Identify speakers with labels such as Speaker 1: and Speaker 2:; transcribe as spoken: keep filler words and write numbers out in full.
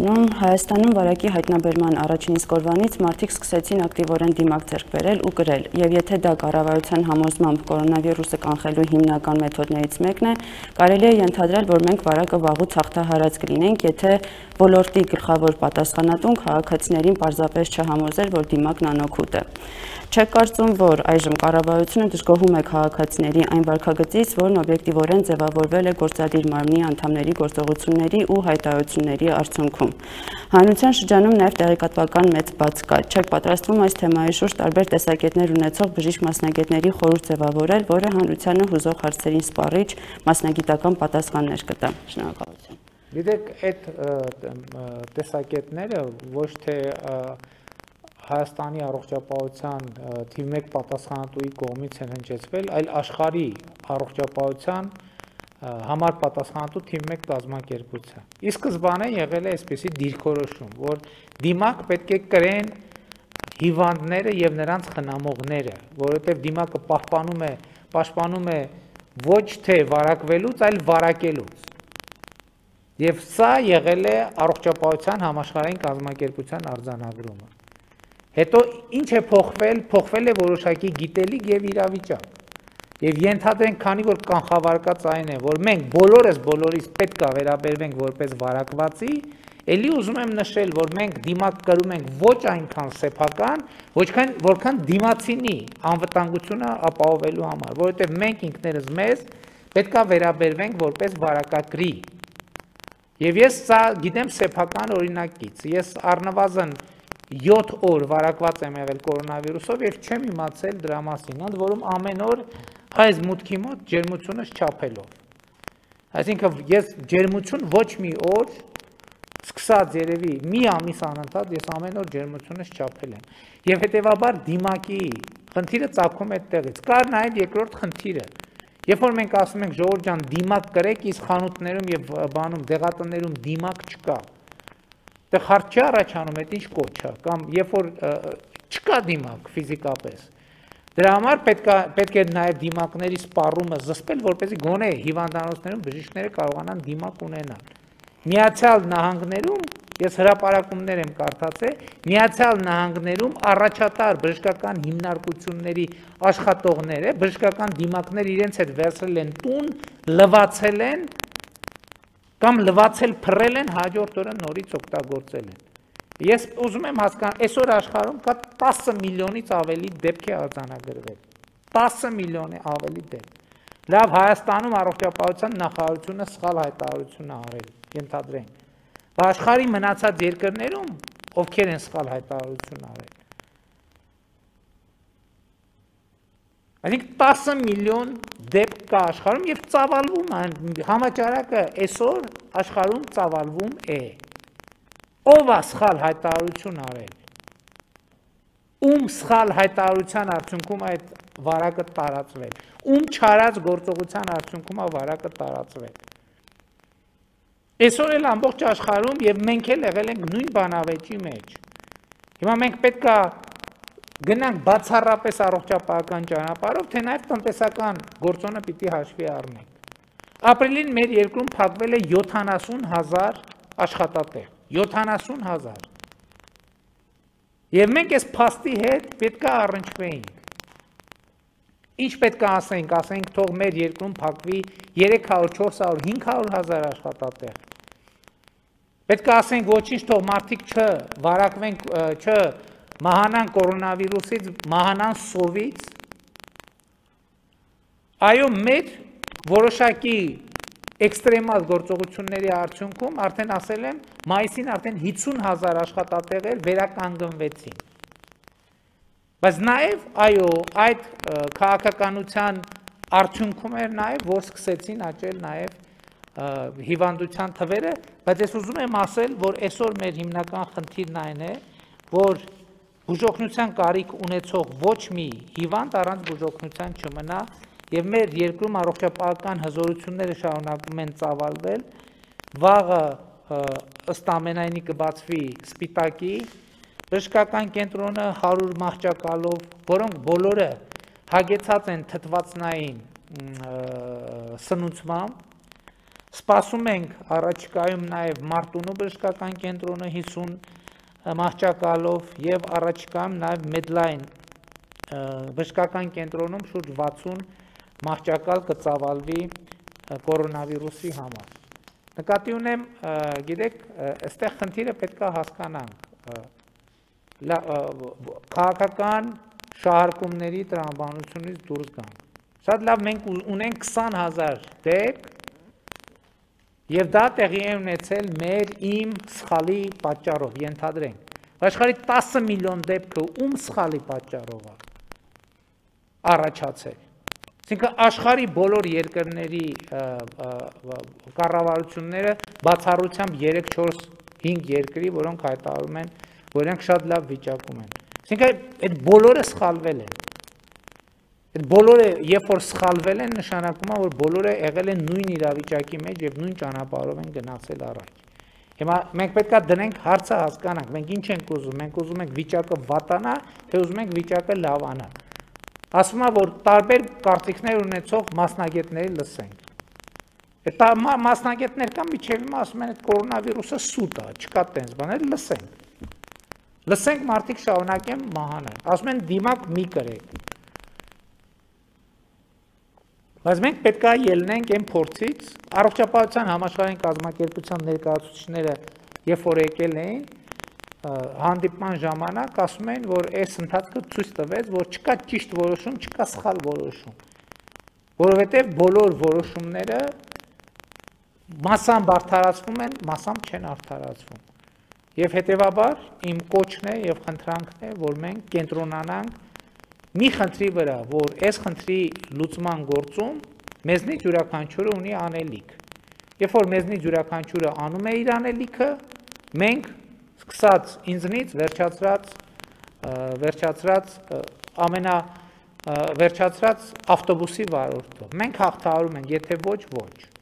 Speaker 1: Հայաստանում վարակի հայտնաբերման առաջին իսկ օրվանից մարդիկ սկսեցին ակտիվորեն դիմակ ձեռք բերել ու կրել, եւ եթե դա կառավարության համոզմամբ կորոնավիրուսը կանխելու հիմնական մեթոդներից մեկն է, կարելի է ենթադրել, որ մենք վարակը վաղուց հաղթահարած կլինենք, եթե ոլորտի գլխավոր պատասխանատուն քաղաքացիներին պարզապես չհամոզեր, որ դիմակն անօգուտ է։ Չեք կարծում, որ այժմ կառավարությունը դժգոհում է քաղաքացիների այն վարքագծից, որն օբյեկտիվորեն ձևավորվել է գործադիր մարմնի անդամների գործողությունների ու հայտարարությունների արդյունքում։ Հանրության շրջանում նաև տեղեկատվական մեծ բաց կա։ Չեք պատրաստվում այս թեմայի շուրջ տարբեր տեսակետներ ունեցող բժիշկ մասնագետների խորհուրդ ձևավորել, որը հանրությանը հուզող հարցերին սպառիչ մասնագիտական պատասխաններ կտա։ Շնորհակալություն։
Speaker 2: Գիտեք, այդ տեսակետները ոչ թե Հայաստանի առողջապահության թիվ մեկ պատասխանատուի կողմից են հնչեցվել, այլ աշխարհի առողջապահության համար պատասխանատու թիվ մեկ կազմակերպության։ Ի սկզբանե եղել է այսպիսի դիրքորոշում, որ դիմակ պետք է կրեն հիվանդները եւ նրանց խնամողները, որովհետեւ դիմակը պահպանում է, պաշտպանում է ոչ թե վարակվելուց, այլ վարակելուց։ Եվ սա եղել է առողջապահության համաշխարհային կազմակերպության արձանագրումը։ Հետո ինչ է փոխվել, փոխվել է որոշակի գիտելիք եւ իրավիճակ։ Եվ ենթադրենք, քանի որ կանխավարկած այն է, որ մենք բոլորս բոլորից պետք է վերաբերվենք որպես վարակվածի, ելի ուզում եմ նշել, որ մենք դիմակ կրում ենք ոչ այնքան սեփական, ոչքան որքան դիմացինի անվտանգությունը ապահովելու համար, որովհետեւ մենք ինքներս մեզ պետք է վերաբերվենք որպես վարակակրի։ Եվ ես սա գիտեմ սեփական օրինակից։ Ես առնվազն յոթ օր վարակված եմ եղել կորոնավիրուսով եւ չեմ իմացել դրա մասին, ընդ որում ամեն օր այս մուտքի մոտ ջերմությունս չափելով։ Այսինքն ես ջերմություն ոչ մի օր, սկսած երևի մի ամիս անընդհատ ես ամեն օր ջերմությունս չափել եմ։ Եվ հետեւաբար դիմակի խնդիրը ծագում է այդտեղից։ Կար նաեւ երկրորդ խնդիրը։ Երբ որ մենք ասում ենք ժողովուրդ ջան, դիմակ կրեք, իսկ խանութներում եւ բանում դեղատներում դիմակ չկա։ Դե հարց չի առաջանում, այդ ինչ կոչ է, կամ երբ որ չկա դիմակ ֆիզիկապես։ Դրա համար պետք է պետք է նաև դիմակների սպառումը զսպել, որպեսզի գոնե հիվանդանոցներում բժիշկները կարողանան դիմակ ունենալ։ Միացյալ Նահանգներում, ես հրապարակումներ եմ կարդացել, Միացյալ Նահանգներում առաջատար բժշկական հիմնարկությունների աշխատողները, բժշկական դիմակներ իրենց հետ վերցրել են տուն, լվացել են կամ լվացել փռել են, հաջորդ օրը նորից օգտագործել են։ Ես ուզում եմ հասկանալ, այսօր աշխարհում կա տասը միլիոնից ավելի դեպք է արձանագրվել։ տասը միլիոնի ավելի դեպք։ Լավ, Հայաստանում առողջապահության նախարարությունը սխալ հայտարարություն է արել, ենթադրենք։ Բայց աշխարհի մնացած երկրներում ովքեր են սխալ հայտարարություն արել։ Այսինքն տասը միլիոն դեպք կա աշխարհում եւ ծավալվում է, համաճարակը այսօր աշխարհում ծավալվում է։ Ով է սխալ հայտարարություն արել։ Ում սխալ հայտարարության արդյունքում այդ վարակը տարածվել։ Ում չարած գործողության արդյունքում է վարակը տարածվել։ Այսօր էլ ամբողջ աշխարհում եւ մենք էլ եղել ենք նույն բանավեճի մեջ։ Հիմա մենք պետք է գնանք բացառապես առողջապահական ճանապարհով, թե նաև տնտեսական գործոնը պիտի հաշվի առնենք։ Ապրիլին մեր երկրում փակվել է յոթանասուն հազար աշխատատեղ, յոթանասուն հազար։ Եվ մենք այս փաստի հետ պետք է առնչվեինք։ Ինչ պետք է ասենք, ասենք թող մեր երկրում փակվի երեք հարյուր, չորս հարյուր, հինգ հարյուր հազար աշխատատեղ։ Պետք է ասենք ոչինչ թող մարդիկ չվարակվեն, չ մահանան կորոնավիրուսից, մահանան սովից։ Այո, մեր որոշակի էքստրեմալ գործողությունների արդյունքում արդեն ասել եմ, մայիսին արդեն հիսուն հազար աշխատատեղեր վերականգնվեցին։ Բայց նաև, այո, այդ քաղաքականության արդյունքում էր նաև, որ սկսեցին աճել նաև հիվանդության թվերը, բայց ես ուզում եմ ասել, որ այսօր մեր հիմնական խնդիրն այն է, որ բուժօգնության կարիք ունեցող ոչ մի հիվանդ առանց բուժօգնության չմնա, եւ մեր երկրում առողջապահական հզորությունները շարունակում են ծավալվել, վաղը ըստ ամենայնի կբացվի Սպիտակի բժշկական կենտրոնը հարյուր մահճակալով, որոնք բոլորը հագեցած են թթվածնային սնուցմամբ, Սպասում ենք առաջիկայում նաև Մարտունու բժշկական կենտրոնը հիսուն մահճակալով եւ առաջիկայում նաև Medline բժշկական կենտրոնում շուրջ վաթսուն մահճակալ կծավալվի կորոնավիրուսի համար։ Նկատի ունեմ, գիտեք, այստեղ խնդիրը պետք է հասկանանք, քաղաքական շահարկումների տրամաբանությունից դուրս գանք։ Շատ լավ, մենք ունենք քսան հազար դեպք եւ դա տեղի է ունեցել մեր իմ սխալի պատճառով, ենթադրենք։ Աշխարհի տասը միլիոն դեպքը ում սխալի պատճառով է առաջացել։ Այսինքն աշխարհի բոլոր երկրների կառավարությունները բացառությամբ երեք չորս հինգ երկրի, որոնք հայտարարում են, որ իրենք շատ լավ վիճակում են։ Այսինքն այդ բոլորը սխալվել են։ Այդ բոլորը, երբ որ սխալվել են, նշանակում է, որ բոլորը եղել են նույն իրավիճակի մեջ եւ նույն ճանապարհով են գնացել առաջ։ Հիմա մենք պետք է դնենք հարցը հասկանանք, մենք ինչ ենք ուզում, մենք ուզում ենք վիճակը վատանա, թե ուզում ենք վիճակը լավանա։ Ասում է, որ տարբեր կարծիքներ ունեցող մասնագետների լսենք։ Այդ մասնագետներ կան միջև հիմա ասում են, այդ կորոնավիրուսը սուտ է, չկա տենց բաներ, լսենք։ Լսենք մարդիկ շարունակեն մահանալ։ Ասում են դիմակ մի կրեք։ Բայց մենք պետք է ելնենք այն փորձից, առողջապահության համաշխարհային կազմակերպության ներկայացուցիչները, երբ որ եկել էին, հանդիպման ժամանակ ասում են, որ այս ընթացքը ցույց տվեց, որ չկա ճիշտ որոշում, չկա սխալ որոշում, որովհետև բոլոր որոշումները մասամբ արդարացվում են, մասամբ չեն արդարացվում։ Եվ հետևաբար իմ կոչն է եւ խնդրանքն է, որ մենք կենտրոնանանք մի խնդրի վրա, որ այս խնդրի լուծման գործում մեզնից յուրաքանչյուրը ունի անելիք։ Երբ որ մեզնից յուրաքանչյուրը անում է իր անելիքը, մենք սկսած ինձնից վերջացրած վերջացրած ամենա վերջացրած ավտոբուսի վարորդով։ Մենք հաղթահարում ենք, եթե ոչ ոչ։